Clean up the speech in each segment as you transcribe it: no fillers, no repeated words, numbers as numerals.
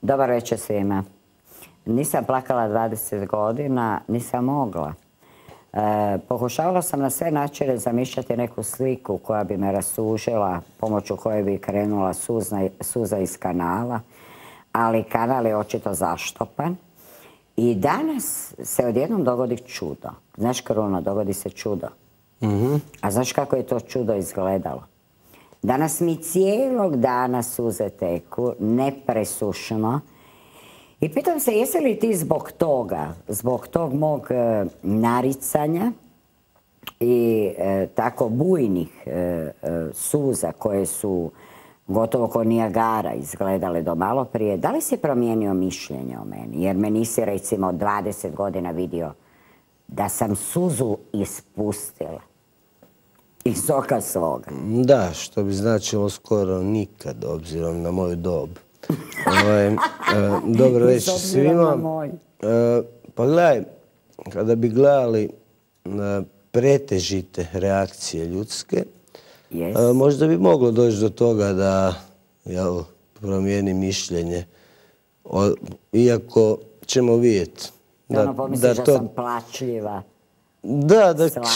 Dobar večer svima. Nisam plakala 20 godina, nisam mogla. Pokušavala sam na sve načine zamišljati neku sliku koja bi me rasužila, pomoću koje bi krenula suza iz kanala, ali kanal je očito zaštopan. I danas se odjednom dogodi čudo. Znaš, Kruno, dogodi se čudo. A znaš kako je to čudo izgledalo? Danas mi cijelog dana suze teku, nepresušno. I pitam se, jesi li ti zbog toga, zbog tog mog naricanja i tako bujnih suza koje su gotovo kao Nijagara izgledale do malo prije, da li si promijenio mišljenje o meni? Jer me nisi recimo 20 godina vidio da sam suzu ispustila iz oka svoga. Da, što bi značilo skoro nikad, obzirom na moju dob. Dobro večer svima. Pa gledaj, kada bi gledali pretežite reakcije ljudske, možda bi moglo doći do toga da promijeni mišljenje. Iako ćemo vidjeti. Da pomisliš da sam plačljiva. Da,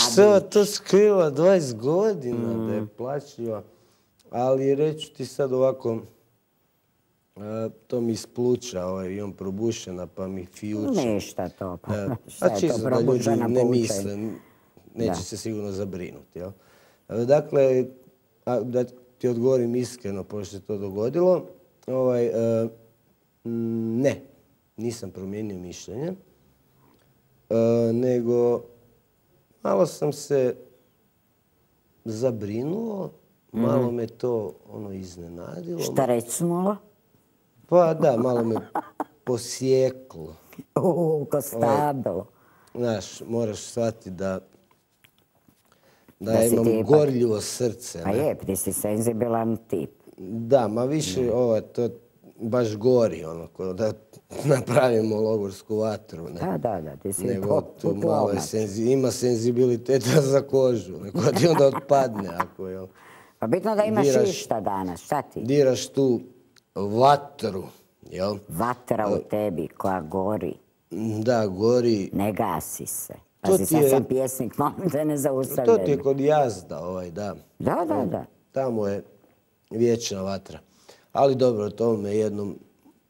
što to skriva 20 godina da je plačljiva. Ali reću ti sad ovako, to mi ispluča, imam probušena pa mi fijuče. Ništa to, pa šta je to probušena ne misle, neće se sigurno zabrinuti. Dakle, da ti odgovorim iskreno, pošto se to dogodilo, ne, nisam promijenio mišljenje, nego malo sam se zabrinuo, malo me to iznenadilo. Šta recnulo? Pa da, malo me posjeklo. Ko stablo. Znaš, moraš shvatiti da imam gorljivo srce. Pa je, ti si senzibilan tip. Da, ma više to baš gori, da napravimo logorsku vatru. Da, ti si putlovac. Ima senzibiliteta za kožu, neko ti onda otpadne. Pa bitno da imaš išta danas, šta ti? Diraš tu vatru, jel? Vatra u tebi koja gori. Da, gori. Ne gasi se. Pazi, sad sam pjesnik, molim te ne zaustavljaj. To ti je kod Jazda, da. Da. Tamo je vječna vatra. Ali dobro, to me jednom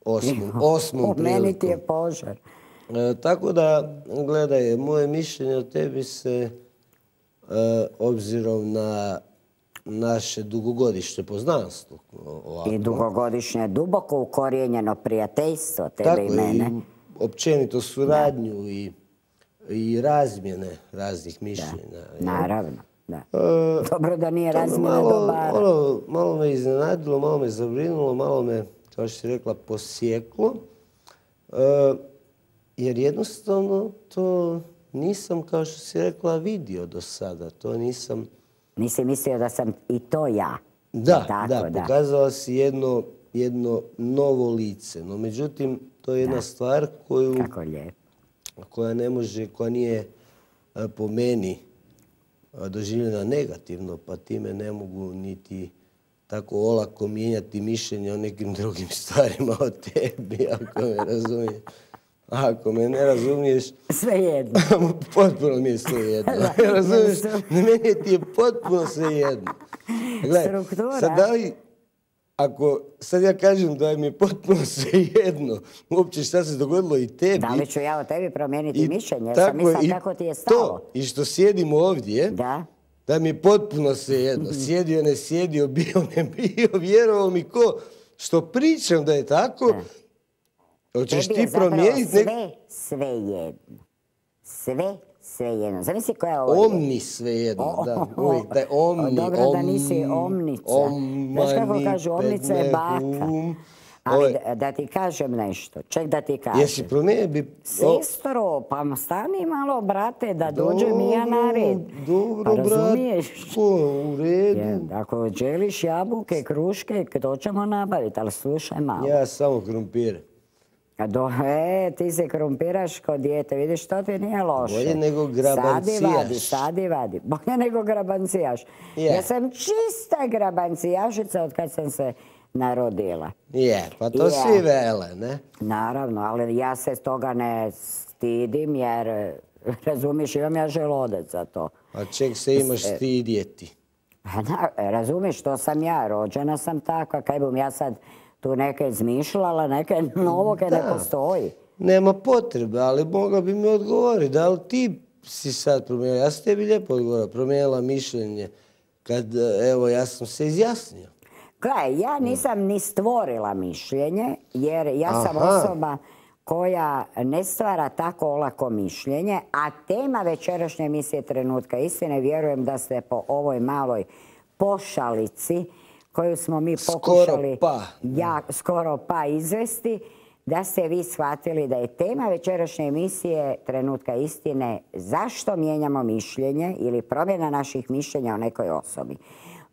osmom prilikom. Meni ti je požar. Tako da, gledaj, moje mišljenje o tebi se, obzirom na naše dugogodišnje poznanstvo. I dugogodišnje duboko ukorijenjeno prijateljstvo tebe i mene. Tako, i općenito suradnju i razmjene raznih mišljenja. Naravno, da. Dobro da nije razmjena dobara. Malo me iznenadilo, malo me zabrinulo, malo me, kao što si rekla, posjeklo. Jer jednostavno to nisam, kao što si rekla, vidio do sada. To nisam... Nisi mislio da sam i to ja. Da, pokazala si jedno novo lice. No, međutim, to je jedna stvar koja ne može, koja nije po meni doživljena negativno, pa time ne mogu niti tako olako mijenjati mišljenje o nekim drugim stvarima o tebi, ako me razumiješ. Ako me ne razumiješ... Svejedno. Potpuno mi je svejedno. Razumiješ? Meni ti je potpuno svejedno. Struktura. Sad da li, ako sad ja kažem da mi je potpuno svejedno uopće šta se dogodilo i tebi... Da li ću ja o tebi promijeniti mišljenje? Jer sam mislim kako ti je stalo. I što sjedim ovdje, da mi je potpuno svejedno. Sjedio, ne sjedio, bio, ne bio, vjerovao mi ko što pričam da je tako... Hoćeš ti promijeniti... Tebi je zapravo sve jedno. Sve jedno. Zamisli koja je ovo? Omni sve jedno, da. Uvijek taj omni. Dobro da nisi omnica. Znaš kako kažu, omnica je baka. Ali da ti kažem nešto. Ček da ti kažem. Jesi promijenio? Sestro, pa stani malo, brate, da dođem i ja na red. Dobro, razumiješ? U redu. Ako želiš jabuke, kruške, to ćemo nabaviti, ali slušaj malo. Ja samo krumpire. Ti se krumpiraš kod dijete, vidiš, to ti nije loše. Bolje nego grabancijaš. Sadi vadi. Bolje nego grabancijaš. Ja sam čista grabancijašica od kad sam se narodila. Je, pa to svi vele, ne? Naravno, ali ja se toga ne stidim jer, razumiješ, imam ja želudac za to. A čeg se imaš stidjeti? Razumiješ, to sam ja, rođena sam takva, kaj bom ja sad tu neke izmišljala, neke novoga ne postoji. Nema potrebe, ali mogla bi mi odgovoriti. Da li ti si sad promijenila? Ja sam tebi lijepo odgovorila, promijenila mišljenje kad, evo, ja sam se izjasnio. Gledaj, ja nisam ni stvorila mišljenje, jer ja sam osoba koja ne stvara tako olako mišljenje, a tema večerašnje emisije Trenutka istine, vjerujem da ste po ovoj maloj pošalici koju smo mi pokušali skoro pa izvesti, da ste vi shvatili da je tema večerašnje emisije Trenutka istine zašto mijenjamo mišljenje ili promjena naših mišljenja o nekoj osobi.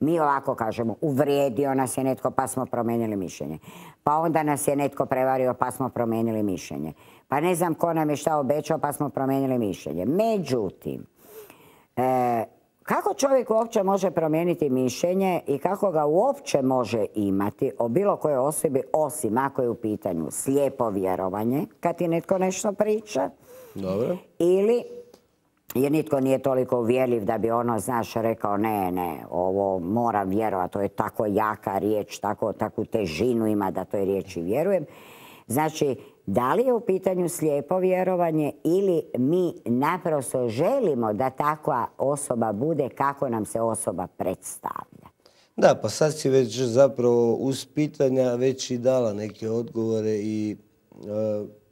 Mi ovako kažemo, uvrijedio nas je netko pa smo promijenili mišljenje. Pa onda nas je netko prevario pa smo promijenili mišljenje. Pa ne znam ko nam je šta obećao pa smo promijenili mišljenje. Međutim, kako čovjek uopće može promijeniti mišljenje i kako ga uopće može imati o bilo kojoj osobi, osim ako je u pitanju slijepo vjerovanje, kad ti netko nešto priča, dobro, ili jer nitko nije toliko uvjerljiv da bi ono, znaš, rekao ne, ovo moram vjerovati, to je tako jaka riječ, takvu težinu ima da toj riječi vjerujem. Znači, da li je u pitanju slijepo vjerovanje ili mi naprosto želimo da takva osoba bude kako nam se osoba predstavlja? Da, pa sad si već zapravo uz pitanja već i dala neke odgovore i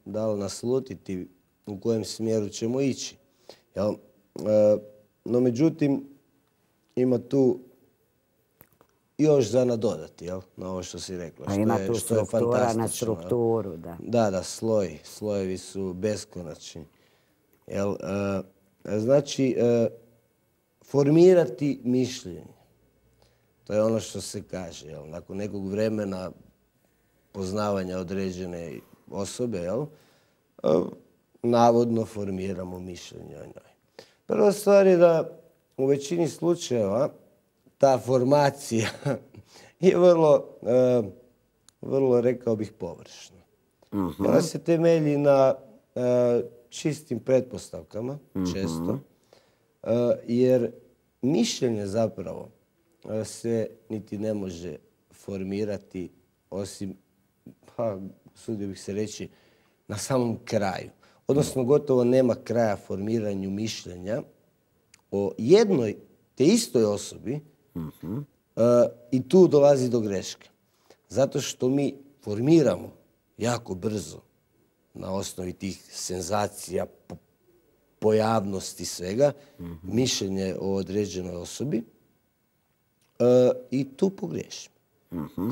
dala naslutiti u kojem smjeru ćemo ići. No, međutim, ima tu još za nadodati, na ovo što si rekla. Pa ima tu struktura na strukturu, da. Da, slojevi su beskonačni. Znači, formirati mišljenje. To je ono što se kaže. Nakon nekog vremena poznavanja određene osobe, navodno formiramo mišljenje o njoj. Prva stvar je da u većini slučajeva ta formacija je vrlo, rekao bih, površna. Ona se temelji na čistim pretpostavkama, često, jer mišljenje zapravo se niti ne može formirati osim, sudio bih se reći, na samom kraju. Odnosno, gotovo nema kraja formiranju mišljenja o jednoj te istoj osobi i tu dolazi do greške. Zato što mi formiramo jako brzo na osnovi tih senzacija, pojavnosti svega, mišljenje o određenoj osobi i tu pogriješimo.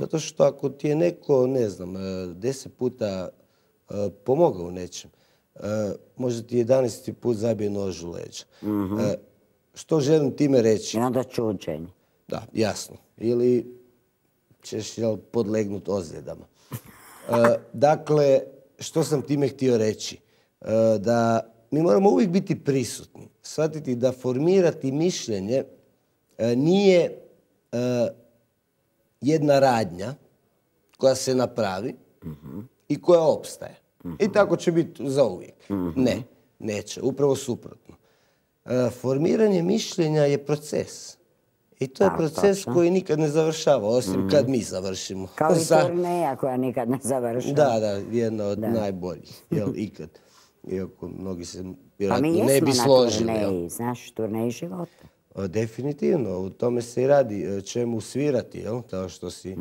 Zato što ako ti je neko, ne znam, 10 puta pomogao u nečem, možda ti 11. put zabije nož u leđa. Što želim time reći? I onda čuđenje. Da, jasno. Ili ćeš podlegnuti ozljedama. Dakle, što sam time htio reći? Da mi moramo uvijek biti prisutni. Shvatiti da formirati mišljenje nije jedna radnja koja se napravi i koja opstaje. I tako će biti zauvijek. Ne, neće. Upravo suprotno. Formiranje mišljenja je proces. I to je proces koji nikad ne završava, osim kad mi završimo. Kao i turneja koja nikad ne završava. Da, jedna od najboljih. Ikad. Iako mnogi se vjerojatno ne bi složili. Pa mi jesmo na turneji, znaš, turneji života. Definitivno, u tome se i radi. Čemu svirati, kao što si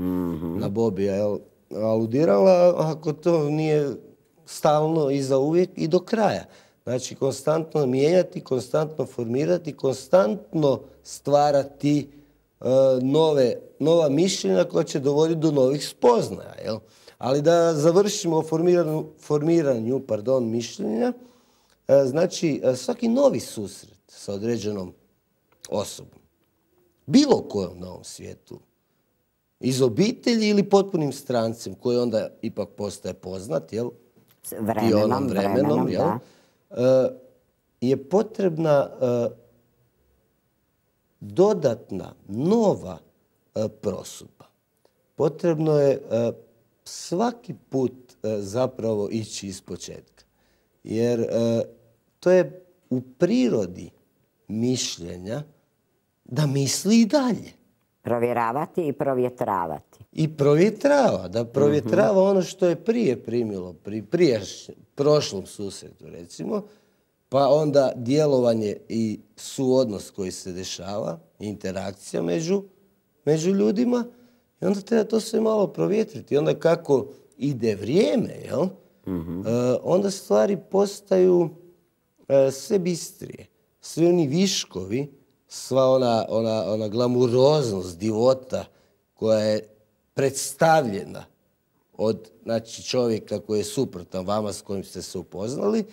na Bobija aludirala, ako to nije stalno i za uvijek i do kraja. Znači, konstantno mijenjati, konstantno formirati, konstantno stvarati nova mišljenja koja će dovoditi do novih spoznaja. Ali da završimo formiranju mišljenja, znači svaki novi susret sa određenom osobom, bilo kojom na ovom svijetu, iz obitelji ili potpunim strancem koji onda ipak postaje poznat, vremenom, je potrebna dodatna, nova prosudba. potrebno je svaki put zapravo ići iz početka. Jer to je u prirodi mišljenja da misli i dalje. Provjeravati i provjetravati. I provjetrava, da provjetrava ono što je prije primilo, pri prošlom susretu recimo, pa onda djelovanje i suodnos koji se dešava, interakcija među ljudima, i onda treba to sve malo provjetriti. Onda kako ide vrijeme, jel? Onda stvari postaju sve bistrije. Svi oni viškovi, sva ona glamuroznost, divota koja je predstavljena od čovjeka koji je suprotan vama s kojim ste se upoznali,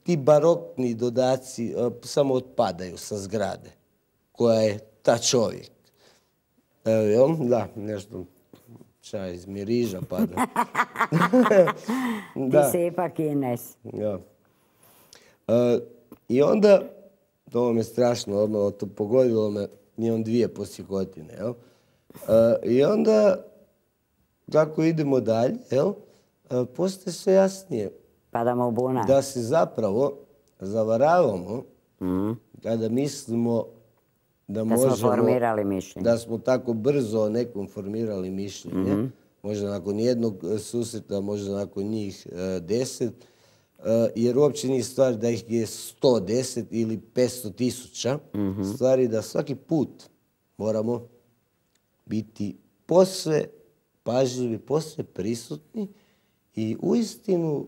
ti barokni dodaci samo otpadaju sa zgrade koja je ta čovjek. Da, nešto čaj iz miriža pada. Ti si ipak Ines. Ja. I onda, to me strašno odmah, to pogodilo me, imam 2 posjekotine, jel? I onda, kako idemo dalje, jel? Postaje sve jasnije. Padamo u bunar. Da se zapravo zavaravamo kada mislimo da možemo... smo formirali mišljenje. Da smo tako brzo o nekom formirali mišljenje. Možda nakon jednog susreta, možda nakon njih 10. Jer uopće nije stvar da ih je 110 ili 500.000. Stvari da svaki put moramo biti posve pažljivi, posve prisutni i uistinu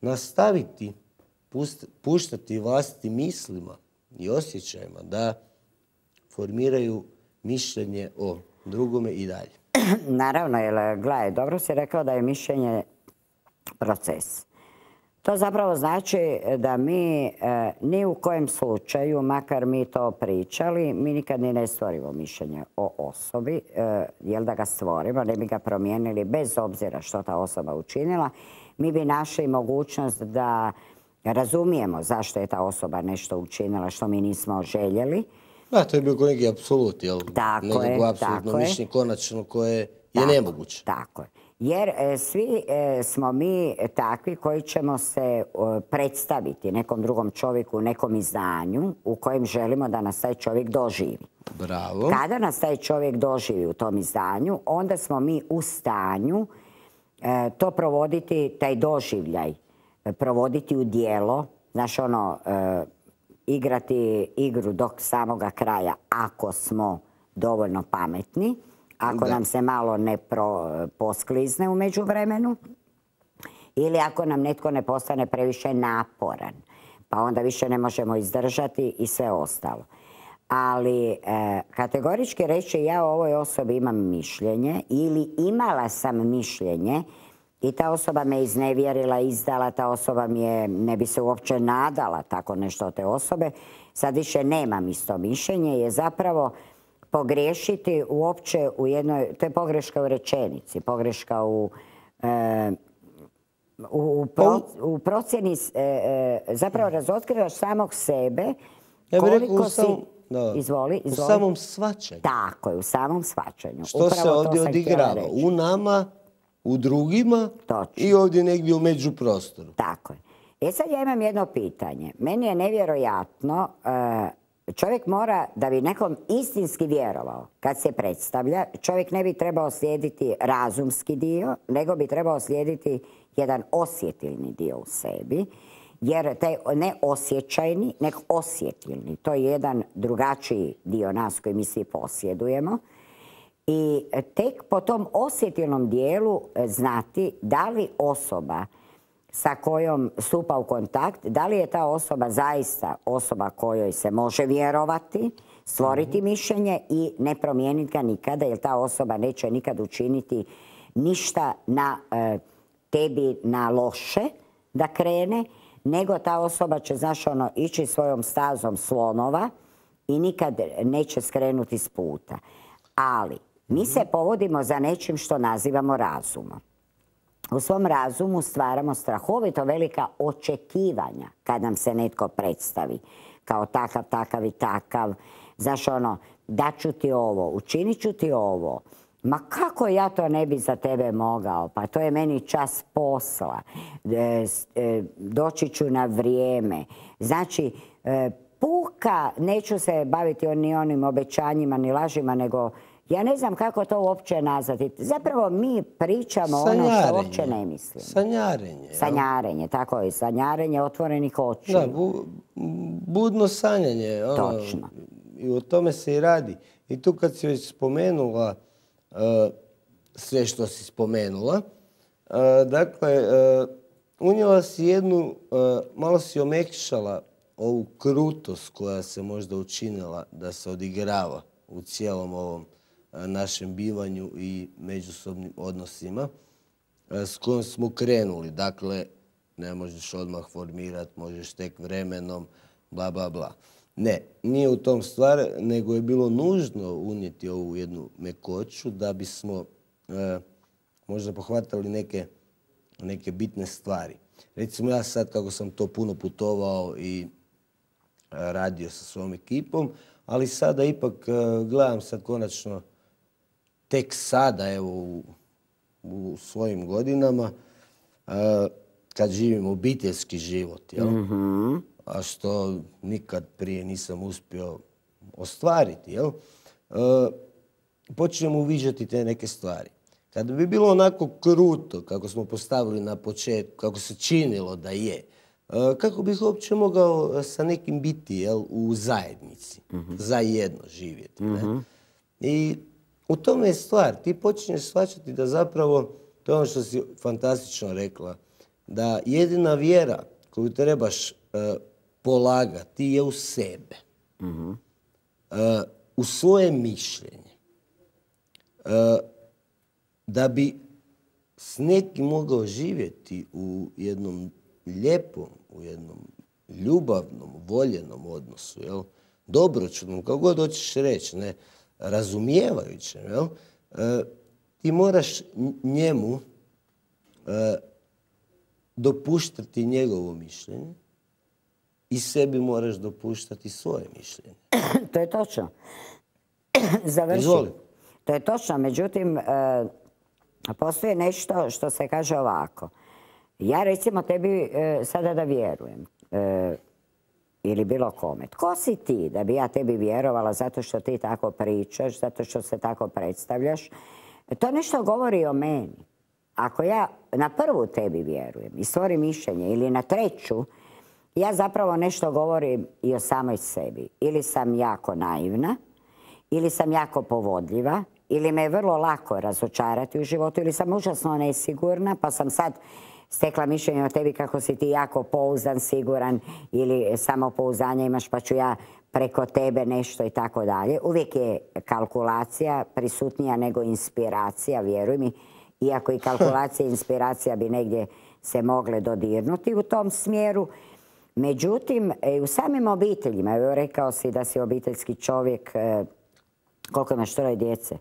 nastaviti puštati vlastitim mislima i osjećajima da formiraju mišljenje o drugome i dalje. Naravno, jer gledaj, dobro si rekao da je mišljenje proces. To zapravo znači da mi ni u kojem slučaju, makar mi to pričali, mi nikad ni ne stvorimo mišljenje o osobi, jer da ga stvorimo, ne bi ga promijenili bez obzira što ta osoba učinila, mi bi našli mogućnost da razumijemo zašto je ta osoba nešto učinila što mi nismo željeli. Da, to je bio neki apsolut, jel? Tako je, apsolutno mišljenje konačno koje je nemoguće. Tako je. Jer svi smo mi takvi koji ćemo se predstaviti nekom drugom čovjeku u nekom izdanju u kojem želimo da nas taj čovjek doživi. Bravo. Kada nas taj čovjek doživi u tom izdanju, onda smo mi u stanju to provoditi, taj doživljaj, provoditi u djelo, znaš ono, igrati igru do samoga kraja ako smo dovoljno pametni, ako nam se malo ne posklizne u međuvremenu ili ako nam netko ne postane previše naporan, pa onda više ne možemo izdržati i sve ostalo. Ali kategorički reći ja o ovoj osobi imam mišljenje ili imala sam mišljenje i ta osoba me iznevjerila, izdala, ta osoba mi je, ne bi se uopće nadala tako nešto od te osobe, sad više nemam isto mišljenje, je zapravo pogriješiti uopće u jednoj, to je pogreška u rečenici, pogreška u procjeni, zapravo razotkrivaš samog sebe, koliko si... Izvoli. U samom shvaćanju. Tako je, u samom shvaćanju. Što se ovdje odigrava? U nama, u drugima i ovdje negdje u međuprostoru. Tako je. Sad ja imam jedno pitanje. Meni je nevjerojatno, čovjek mora, da bi nekom istinski vjerovao, kad se predstavlja, čovjek ne bi trebao slijediti razumski dio, nego bi trebao slijediti jedan osjetilni dio u sebi. Jer taj ne osjećajni, nego osjetilni. To je jedan drugačiji dio nas koji mi svi posjedujemo. I tek po tom osjetilnom dijelu znati da li osoba sa kojom stupa u kontakt, da li je ta osoba zaista osoba kojoj se može vjerovati, stvoriti mišljenje i ne promijeniti ga nikada, jer ta osoba neće nikad učiniti ništa na tebi na loše da krene, nego ta osoba će, znaš, ići svojom stazom slonova i nikad neće skrenuti s puta. Ali mi se povodimo za nečim što nazivamo razumom. U svom razumu stvaramo strahovito velika očekivanja kad nam se netko predstavi kao takav, takav i takav. Znaš, daću ti ovo, učinit ću ti ovo. Ma kako ja to ne bi za tebe mogao? Pa to je meni čas posla. Doći ću na vrijeme. Znači, puka, neću se baviti ni onim obećanjima, ni lažima, nego ja ne znam kako to uopće nazvati. Zapravo mi pričamo ono što uopće ne mislimo. Sanjarenje. Sanjarenje, tako je. Sanjarenje otvorenih očiju. Da, budno sanjanje. Točno. I o tome se i radi. I tu kad si već spomenula sve što si spomenula, dakle, unijela si jednu, malo si omekšala ovu krutost koja se možda učinila da se odigrava u cijelom ovom našem bivanju i međusobnim odnosima s kojom smo krenuli. Dakle, ne možeš odmah formirati, možeš tek vremenom, bla, bla, bla. Ne, nije u tom stvar, nego je bilo nužno unijeti ovu jednu mekoću da bismo možda pohvatali neke bitne stvari. Recimo ja sad, kako sam to puno putovao i radio sa svojom ekipom, ali sada ipak gledam sad konačno, tek sada, evo, u svojim godinama, kad živim obiteljski život, jel? A što nikad prije nisam uspio ostvariti, jel? Počnemo uviđati te neke stvari. Kada bi bilo onako kruto, kako smo postavili na početku, kako se činilo da je, kako bih uopće mogao sa nekim biti, jel, u zajednici, zajedno živjeti. Ne? I u tome je stvar. Ti počinješ shvaćati da zapravo, to je ono što si fantastično rekla, da jedina vjera koju trebaš polagati je u sebe. U svoje mišljenje. Da bi s nekim mogao živjeti u jednom lijepom, u jednom ljubavnom, voljenom odnosu, jel? Dobročutnom, kako god hoćeš reći, ne, razumijevajućem, jel? Ti moraš njemu dopuštati njegovo mišljenje i sebi moraš dopuštati svoje mišljenje. To je točno. Završi. Izvoli. To je točno, međutim, postoji nešto što se kaže ovako. Ja recimo tebi sada da vjerujem, ili bilo kome. Tko si ti da bi ja tebi vjerovala zato što ti tako pričaš, zato što se tako predstavljaš? To nešto govori o meni. Ako ja na prvu tebi vjerujem i stvorim mišljenje ili na treću, ja zapravo nešto govorim i o samoj sebi. Ili sam jako naivna, ili sam jako povodljiva, ili me je vrlo lako razočarati u životu, ili sam užasno nesigurna, pa sam sad stekla mišljenje o tebi kako si ti jako pouzdan, siguran, ili samopouzdanje imaš pa ću ja preko tebe nešto i tako dalje. Uvijek je kalkulacija prisutnija nego inspiracija, vjeruj mi, iako i kalkulacija i inspiracija bi negdje se mogle dodirnuti u tom smjeru. Međutim, u samim obiteljima, evo rekao si da si obiteljski čovjek, koliko imaš, 3 djece?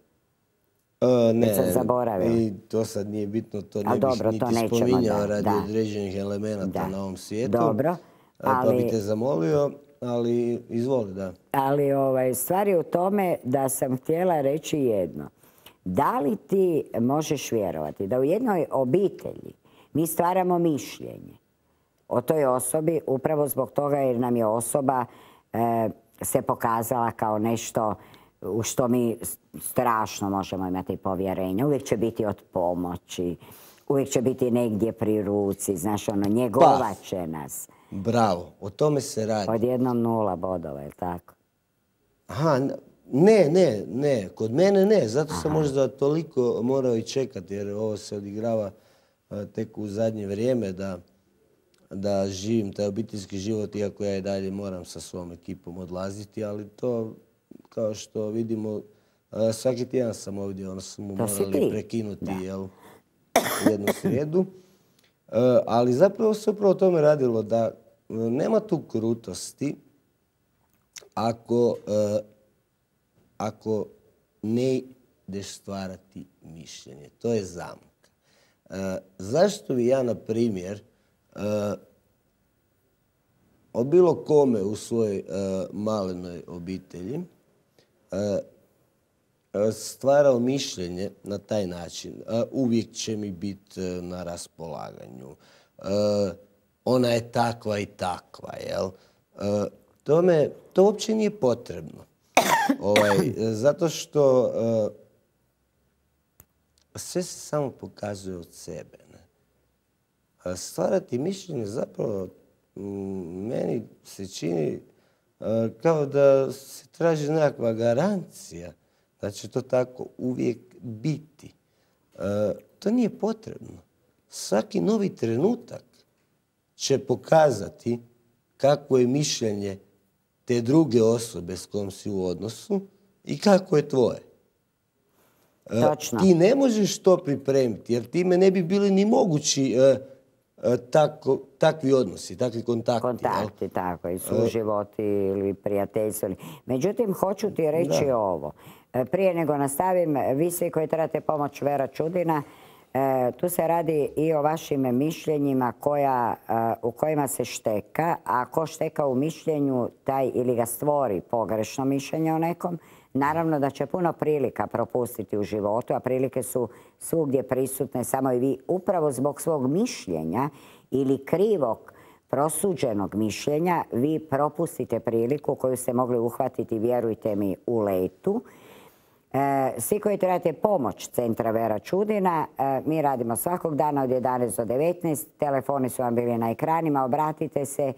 Ne, sam zaboravila. i to sad nije bitno, to ne dobro, bih to niti nećemo, spominjao radi da. određenih elemenata na ovom svijetu. Dobro, Pa bi te zamolio, ali izvoli, da. Ali stvar je u tome da sam htjela reći jedno. Da li ti možeš vjerovati da u jednoj obitelji mi stvaramo mišljenje o toj osobi upravo zbog toga jer nam je osoba se pokazala kao nešto u što mi strašno možemo imati povjerenje. Uvijek će biti od pomoći, uvijek će biti negdje pri ruci, znaš, njegovat će nas. Bravo, o tome se radi. Odjednom 0 bodova, je li tako? Aha, ne, kod mene ne, zato sam možda toliko morao i čekati jer ovo se odigrava tek u zadnje vrijeme da živim taj obiteljski život, iako ja i dalje moram sa svom ekipom odlaziti, ali to, kao što vidimo, svaki tjedan sam ovdje, ono smo morali prekinuti jednu srijedu. Ali zapravo se upravo o tome radilo da nema tu krutosti ako ne ideš stvarati mišljenje. To je zamka. Zašto bi ja, na primjer, o bilo kome u svojoj malenoj obitelji stvarao mišljenje na taj način. Uvijek će mi biti na raspolaganju. Ona je takva i takva, jel? To uopće nije potrebno. Zato što sve se samo pokazuje od sebe. Stvarati mišljenje zapravo meni se čini kao da se traži nekakva garancija da će to tako uvijek biti. To nije potrebno. Svaki novi trenutak će pokazati kako je mišljenje te druge osobe s kojom si u odnosu i kako je tvoje. Točno. Ti ne možeš to pripremiti jer time ne bi bili ni mogući takvi odnosi, takvi kontakti. Kontakti, tako, i suživoti ili prijateljstvo. Međutim, hoću ti reći ovo. Prije nego nastavim, vi svi koji trebate pomoć Vera Čudina, tu se radi i o vašim mišljenjima u kojima se šteka, a ko šteka u mišljenju, taj ili ga stvori pogrešno mišljenje o nekom, naravno da će puno prilika propustiti u životu, a prilike su svugdje prisutne, samo i vi upravo zbog svog mišljenja ili krivog prosuđenog mišljenja vi propustite priliku koju ste mogli uhvatiti, vjerujte mi, u letu. Svi koji trebate pomoć Centra Vera Čudina, mi radimo svakog dana od 11 do 19, telefoni su vam bili na ekranima, obratite se.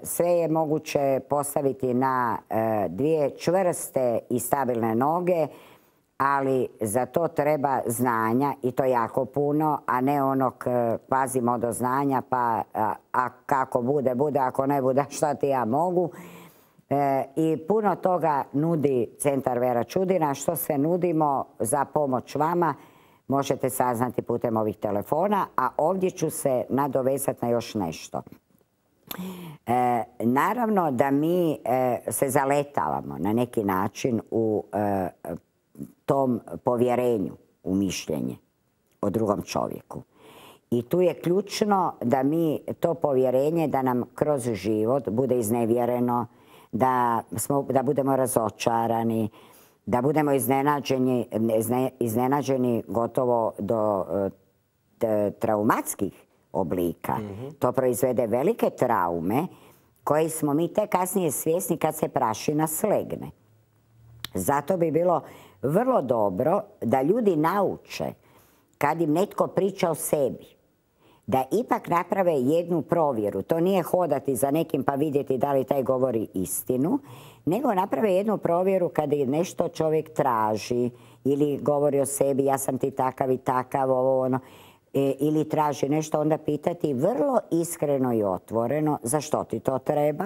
Sve je moguće postaviti na dvije čvrste i stabilne noge, ali za to treba znanja i to jako puno, a ne onog pazimo do znanja pa a kako bude, bude, ako ne bude šta ti ja mogu. I puno toga nudi Centar Vera Čudina. Što sve nudimo za pomoć vama možete saznati putem ovih telefona, a ovdje ću se nadovezati na još nešto. Naravno da mi se zaletavamo na neki način u tom povjerenju u mišljenje o drugom čovjeku. I tu je ključno da mi to povjerenje, da nam kroz život bude iznevjereno, da budemo razočarani, da budemo iznenađeni gotovo do traumatskih oblika. To proizvede velike traume koje smo mi tek kasnije svjesni kad se prašina slegne. Zato bi bilo vrlo dobro da ljudi nauče kad im netko priča o sebi, da ipak naprave jednu provjeru. To nije hodati za nekim pa vidjeti da li taj govori istinu, nego naprave jednu provjeru kada nešto čovjek traži ili govori o sebi, ja sam ti takav i takav, ovo ono, ili traži nešto, onda pitati vrlo iskreno i otvoreno zašto ti to treba,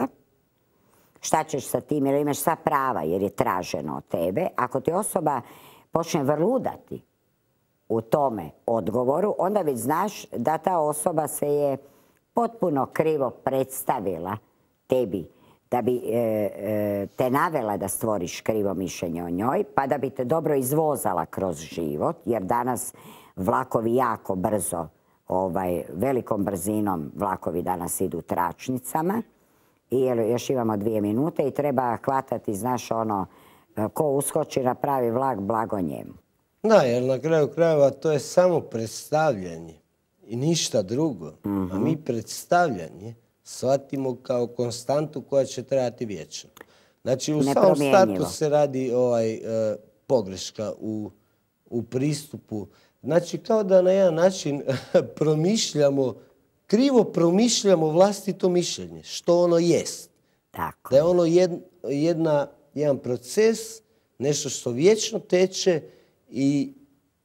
šta ćeš sa tim, jer imaš sva prava jer je traženo od tebe. Ako ti osoba počne vrludati u tome odgovoru, onda već znaš da ta osoba se je potpuno krivo predstavila tebi, da bi te navela da stvoriš krivo mišljenje o njoj, pa da bi te dobro izvozala kroz život, jer danas vlakovi jako brzo, velikom brzinom vlakovi danas idu tračnicama i još imamo 2 minute i treba hvatati, znaš ono, ko uskoči na pravi vlak, blago njemu. Da, jer na kraju krajeva to je samo predstavljanje i ništa drugo. A mi predstavljanje shvatimo kao konstantu koja će trajati vječno. Znači u samom startu se radi pogreška u pristupu. Znači kao da na jedan način krivo promišljamo vlastito mišljenje, što ono jest. Tako. Da je ono jedan proces, nešto što vječno teče i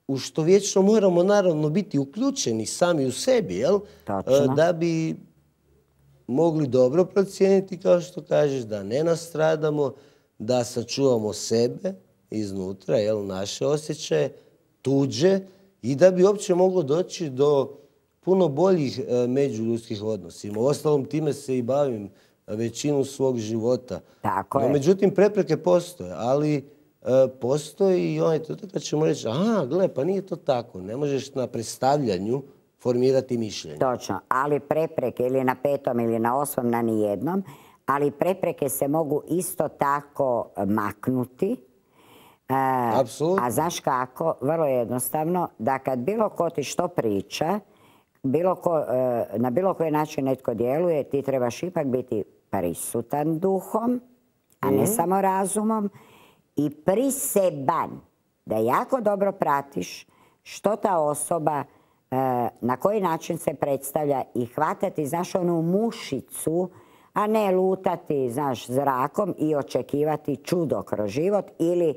u što vječno moramo naravno biti uključeni sami u sebi, jel? Da bi mogli dobro procijeniti, kao što kažeš, da ne nastradamo, da sačuvamo sebe iznutra, jel, naše osjećaje, tuđe, i da bi uopće moglo doći do puno boljih međuljudskih odnosima. Uostalom, time se i bavim većinu svog života. Tako je. Međutim, prepreke postoje, ali postoji i onaj trenutak kad ćemo reći, gle, pa nije to tako. Ne možeš na predstavljanju formirati mišljenje. Točno, ali prepreke ili na 5. ili na 8. na nijednom, ali prepreke se mogu isto tako maknuti. Apsolutno. A znaš kako? Vrlo jednostavno, da kad bilo ko ti što priča, na bilo koji način netko djeluje, ti trebaš ipak biti prisutan duhom, a ne samo razumom, i priseban da jako dobro pratiš što ta osoba, na koji način se predstavlja i hvatati, znaš, onu mušicu, a ne lutati, znaš, zrakom i očekivati čudo kroz život ili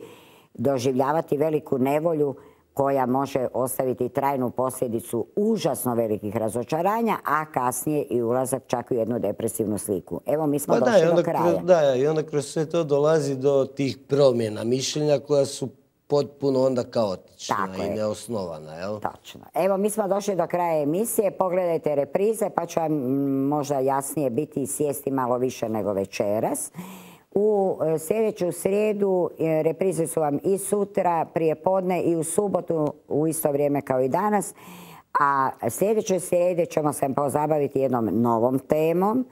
doživljavati veliku nevolju koja može ostaviti trajnu posljedicu užasno velikih razočaranja, a kasnije i ulazak čak u jednu depresivnu sliku. Evo, mi smo došli do kraja. Da, i onda kroz sve to dolazi do tih promjena mišljenja koja su potpuno onda kaotična i neosnovana. Jel? Točno. Evo, mi smo došli do kraja emisije. Pogledajte reprize, pa će vam možda jasnije biti i sjesti malo više nego večeras. U sljedeću srijedu reprize su vam i sutra, prije podne, i u subotu u isto vrijeme kao i danas. A sljedeće srijede ćemo se pozabaviti jednom novom temom,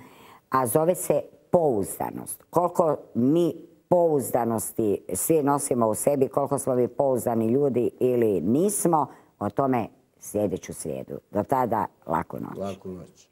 a zove se pouzdanost. Koliko mi pouzdanosti svi nosimo u sebi, koliko smo mi pouzdani ljudi ili nismo, o tome sljedeću srijedu. Do tada, laku noć. Laku noć.